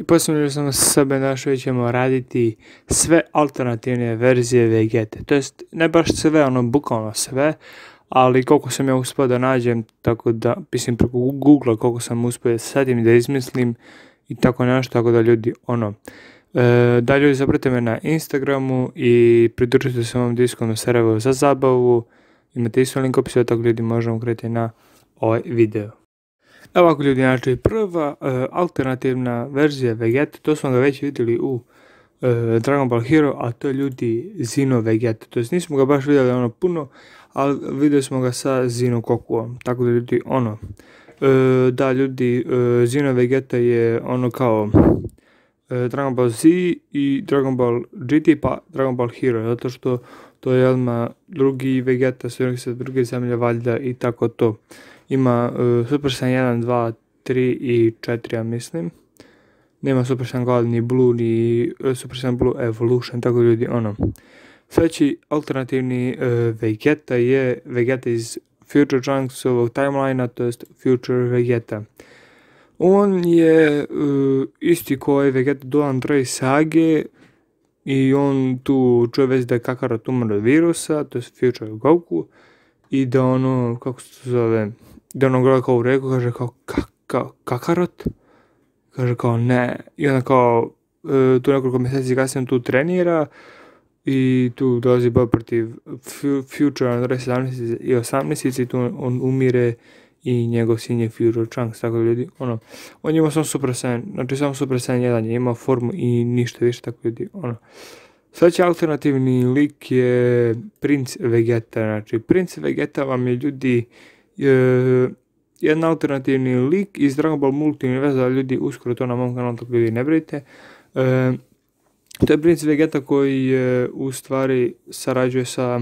I posljedno sam sebe našao i ćemo raditi sve alternativne verzije Vegete. To jest, ne baš sve, bukvalno sve, ali koliko sam ja uspio da nađem, tako da, mislim preko Google koliko sam uspio da setim i da izmislim i tako nešto, tako da ljudi, da ljudi zapratite me na Instagramu i pridružite se ovom Discordu serveru za zabavu. Imate isto link u opisu, tako ljudi možemo krenuti na ovaj video. Evo ovako ljudi, znači prva alternativna verzija Vegete, to smo ga već vidjeli u Dragon Ball Hero, a to je ljudi Xeno Vegeta. To jest nismo ga baš vidjeli puno, ali vidjeli smo ga sa Xeno Gokuom. Tako da ljudi, da ljudi, Xeno Vegeta je kao Dragon Ball Z i Dragon Ball GT pa Dragon Ball Hero, zato što to je odmah drugi Vegeta, sa druge zemlje valjda i tako to. Ima Super Saiyan 1, 2, 3 i 4, ja mislim. Nema Super Saiyan Gold, ni Blue, ni Super Saiyan Blue Evolution, tako ljudi, Sljedeći alternativni Vegeta je Vegeta iz Future Trunks ovog timelinea, to jest Future Vegeta. On je isti koji Vegeta do Android sage i on tu čuje već da je Kakarot umro od virusa, to je Future Goku, i da kako se zove, da gleda kao u reku, kaže kao Kakarot, kaže kao ne, i onda tu nekoliko mjeseci kasnije tu trenira i tu dolazi boj protiv Future Android 17 i 18 i tu on umire i njegov sin je Future Trunks, tako da ljudi, on ima samo Super Saiyan, znači samo Super Saiyan 1 je imao formu i ništa više, tako ljudi, Sljedeći alternativni lik je Prince Vegeta, znači Prince Vegeta vam je ljudi jedan alternativni lik iz Dragon Ball Multiverza, ljudi, uskoro to na mom kanalu, tako ljudi ne brinite. To je Prince Vegeta koji u stvari sarađuje sa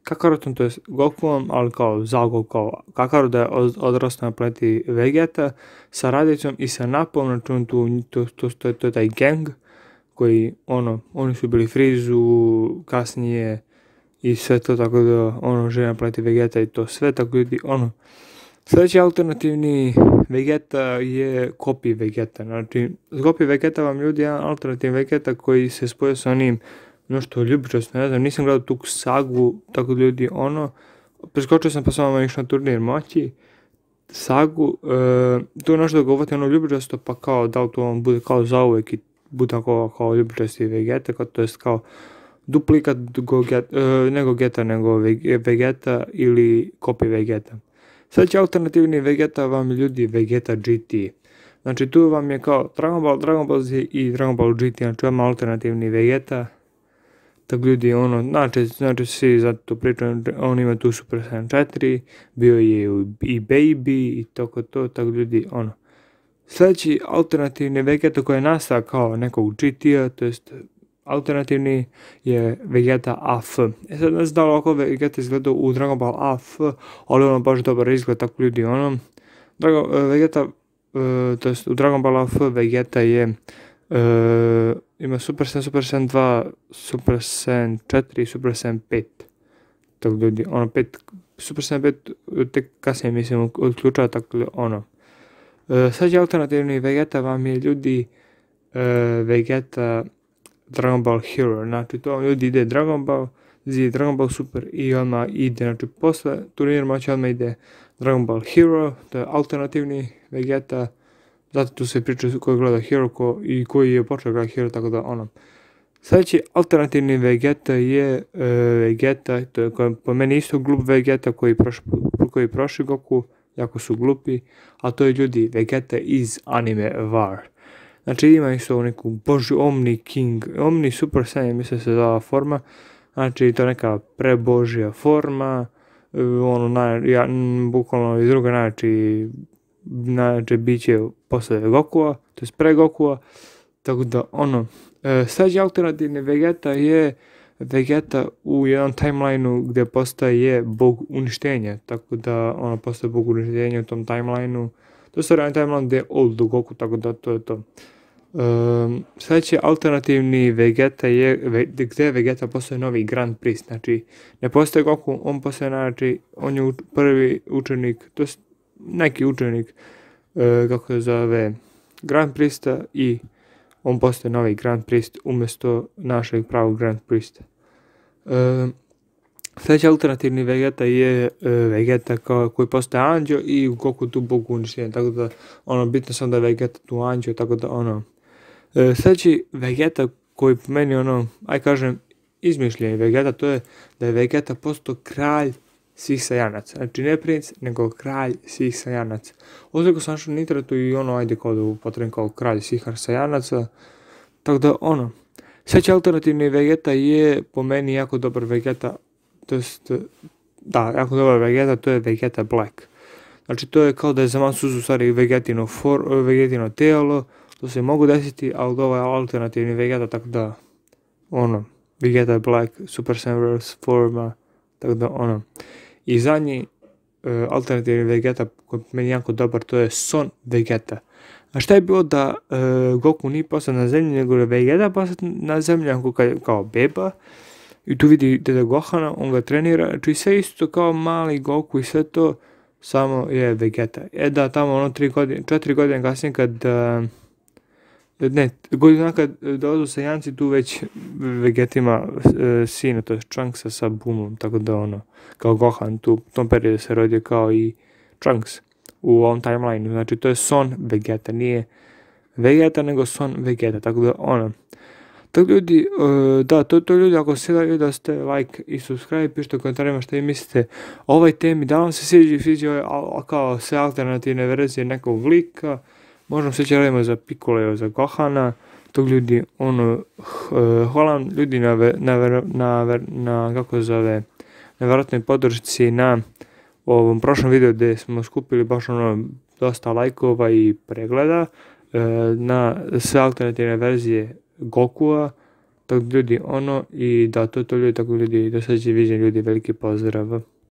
Kakarotom, to je Gokuom, ali kao Zago, kao Kakarot da je odrastao na planeti Vegeta, sa Radicom i sa Napom, znači to je taj gang koji, oni su bili Frizu, kasnije i sve to, tako da, žive na planeti Vegeta i to sve, tako ljudi, Sljedeći alternativni Vegeta je Copy Vegeta, znači Copy Vegeta vam ljudi jedan alternativni Vegeta koji se spoje sa onim nešto ljubičasno, ne znam, nisam gledao tu sagu, tako da ljudi, preskočio sam pa samo išao na turnir moći, sagu, tu je nešto da govati ljubičasto, pa kao da li to on bude kao zauvek i bude kao ljubičasti Vegeta, to jest kao duplikat ne Gogeta nego Vegeta ili Copy Vegeta. Sljedeći alternativni Vegeta vam je ljudi Vegeta GT. Znači tu vam je kao Dragon Ball Z i Dragon Ball GT, znači vam alternativni Vegeta. Tako ljudi, znači svi zato pričaju, on ima tu Super Saiyan 4, bio je i Baby i tako to, tako ljudi, Sljedeći alternativni Vegeta koji je nastao kao nekog GT-a, to jest alternativni je Vegeta AF. Sad ne znam da li ovako Vegeta izgledao u Dragon Ball AF, ali baš dobar izgled, tako ljudi, Vegeta, to jest u Dragon Ball AF Vegeta je, ima Super Saiyan, Super Saiyan 2, Super Saiyan 4 i Super Saiyan 5. Tako ljudi, Super Saiyan 5 tek kasnije mislim odključava, tako ljudi, Sljedeći alternativni Vegeta vam je ljudi Vegeta Dragon Ball Hero, znači to vam ljudi ide Dragon Ball Z, Dragon Ball Super i odmah ide, znači posle turnir moći odmah ide Dragon Ball Hero, to je alternativni Vegeta, zato tu se priča koji gleda Hero i koji je počeo gleda Hero, tako da Sljedeći alternativni Vegeta je Vegeta, to je po meni isto glup Vegeta koji prošli Goku, jako su glupi, a to je ljudi Vegeta iz anime War. Znači ima isto neku božju Omni Super Saiyan, mislim se zvala forma, znači to je neka prebožja forma, bukvalno iz druga najjače biće posle Gokua, to je pre Gokua, tako da sljedeći alternativni Vegeta je Vegeta u jednom timelineu gdje postaje bog uništenja, tako da postaje bog uništenja u tom timelineu. To je jedan timeline gdje je Old Goku, tako da to je to. Sljedeći alternativni Vegeta je gdje Vegeta postaje novi Grand Priest, znači ne postaje Goku, on postaje, znači on je prvi učenik, to je neki učenik, kako se zove, Grand Priesta i on postaje novi Grand Priest umjesto našeg pravog Grand Priesta. Sljedeći alternativni Vegeta je Vegeta koji postaje anđeo i Goku tu Bog uništenja, tako da bitno sam da je Vegeta tu anđeo, tako da sljedeći Vegeta koji po meni kažem izmišljeni Vegeta, to je da je Vegeta postao kralj svih Saiyanaca. Znači ne princ, nego kralj svih Saiyanaca. Ovdje sam našao na internetu i kao da upotrebim kao kralj svih Saiyanaca. Tako da sljedeći alternativni Vegeta je po meni jako dobar Vegeta. Jako dobar Vegeta, to je Vegeta Black. Znači to je kao da je za Mansuzu u stvari Vegetino tijelo, to se mogu desiti, ali ovo je alternativni Vegeta, tako da Vegeta Black, Super Saiyan forma, tako da I zadnji alternativni Vegeta koji je meni jako dobar, to je Son Vegeta. A šta je bilo da Goku nije postao na zemlji, nego je Vegeta postao na zemlji kao beba. I tu vidi deda Gohana, on ga trenira, znači sve isto kao mali Goku i sve to, samo je Vegeta. Tamo 4 godine kasnije kad dolazu Saiyanci, tu već Vegeta ima sina, to je Trunksa sa Boomom, tako da kao Gohan, tu u tom periodu se rodio kao i Trunks u ovom timeline, znači to je Son Vegeta, nije Vegeta nego Son Vegeta, tako da Tako ljudi, to ljudi, ako se da video ste like i subscribe, pišite u komentarima što vi mislite o ovoj temi, da vam se sviđa kao sve alternativne verzije nekog lika, možemo se radimo za Piccolo, za Gohana, tog ljudi, hvala vam ljudi na kako zove, nevjerojatnoj podršci na ovom prošlom videu gdje smo skupili baš dosta lajkova i pregleda na sve alternativne verzije Gokua, tako ljudi i to ljudi, tako ljudi, do sljedećeg viđenja ljudi, veliki pozdrav.